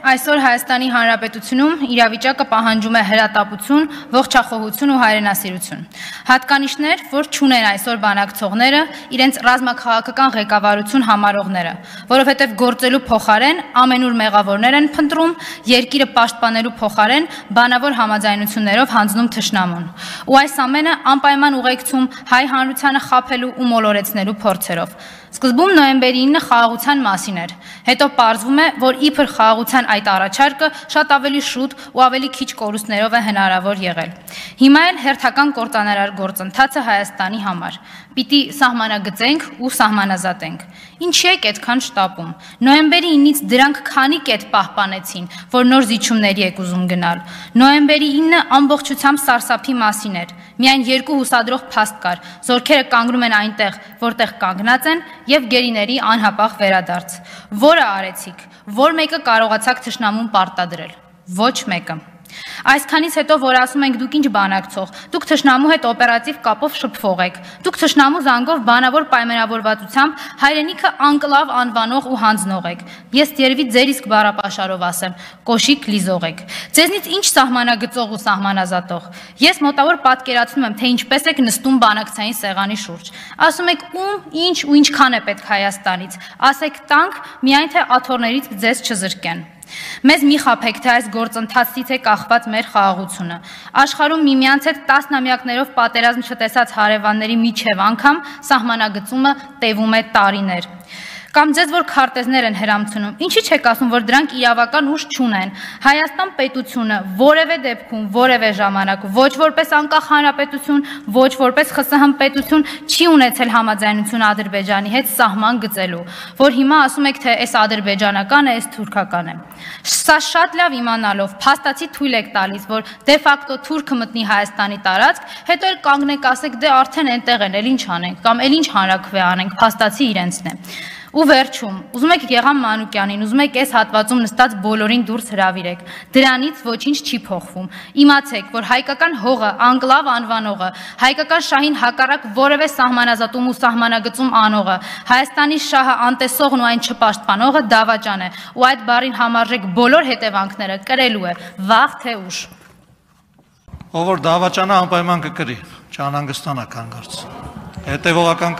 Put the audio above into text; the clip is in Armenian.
Այսօր Հայաստանի Հանրապետությունում իրավիճակը պահանջում է հրատապություն, ողջախոհություն ու հայրենասիրություն։ Հատկանիշներ, որ չունեն այսօր բանակցողները, իրենց ռազմաքաղաքական ղեկավարություն համարողները, որովհետև գործելու փոխարեն ամենուր մեղավորներ են փնտրում, երկիրը պաշտպանելու փոխարեն բանավոր համաձայնություններով հանձնում թշնամուն։ Ու այս ամենը անպայման ուղեկցում հայ հանրությանը խաբելու ու մոլորեցնելու փորձերով։ Սկզբում նոյեմբերի 9-ը խաղաղության մասին էր, հետո պարզվում է, որ իբր խաղաղության այդ առաջարկը շատ ավելի շուտ ու ավելի քիչ կորուստներով է հնարավոր եղել։ Հիմա էլ հերթական կործանարար գործընթացը Հայաստանի համար։ Պիտի սահմանագծենք ու սահմանազատենք։ Ինչի եք այդքան շտապում։ Նոյեմբերի 9-ից դրանք քանի կետ պահպանեցին, որ նոր զիջումների եք ուզում գնալ։ Նոյեմբերի 9-ը ամբողջությամբ սարսափի մասին էր։ Միայն երկու հուսադրող փաստ կար, զորքերը կանգնում են այնտեղ, որտեղ կանգնած են, եւ գերիների անհապաղ վերադարձ։ Որը արեցիք, որ մեկը կարողացաք թշնամուն պարտադրել։ Ոչ մեկը։ Այսքանից հետո, որ ասում ենք դուք ինչ բանակցող, դուք թշնամու հետ օպերատիվ կապով շփվող եք, դուք թշնամու զանգով բանավոր պայմանավորվածությամբ հայրենիքը անկլավ անվանող ու հանձնող եք։ Ես երևի ձեր իսկ բառապաշարով ասեմ, կոշիկ լիզող եք։ Ձեզնից ինչ սահմանագծող ու սահմանազատող։ Ես մոտավոր պատկերացնում եմ, թե ինչպես եք նստում բանակցային սեղանի շուրջ։ Ասում եք ում, ինչ ու ինչքան է պետք Հայաստանից։ Ասեք տանք, միայն թե աթոռներից ձեզ չզրկեն։ Մեզ մի խաբեք, թե այս գործընթացից է կախված մեր խաղաղությունը։ Աշխարհում միմյանց հետ տասնամյակներով պատերազմ չտեսած հարևանների միջև անգամ սահմանագծումը տևում է տարիներ։ Կամ ձեզ որ քարտեզներ են հրամցնում, ինչի՞ չեք ասում, որ դրանք իրավական ուժ չունեն։ Հայաստան պետությունը որևէ դեպքում, որևէ ժամանակ, ոչ որպես անկախ հանրապետություն, ոչ որպես ԽՍՀՄ պետություն չի ունեցել համաձայնություն Ադրբեջանի հետ սահման գծելու, որ հիմա ասում եք, թե այս ադրբեջանական է, այս թուրքական է։ Սա շատ լավ իմանալով, փաստացի թույլ եք տալիս, որ դե ֆակտո թուրքը մտնի Հայաստանի տարածք, հետո էլ կանգնեք ասեք, դե արդեն այնտեղ են, էլ ինչ անենք, կամ էլ ինչ հանրաքվե անենք, փաստացի իրենցն է։ Ու վերջում, ուզում եք Գեգամ Մանուկյանին, ուզում եք այս հատվածում նստած բոլորին դուրս հրավիրեք, դրանից ոչինչ չի փոխվում։ Իմացեք, որ հայկական հողը, անկլավ անվանողը, հայկական շահին հակառակ որևէ սահմանազատում ու սահմանագծում անողը, Հայաստանի շահը անտեսողն ու այն չպաշտպանողը դավաճան է, ու այդ բառին համարժեք բոլոր հետևանքները կրելու է, վաղ թե ուշ։ Ով որ դավաճանը անպայման կկրի, չանհանգստանա կանգ արծ։ Հետևողական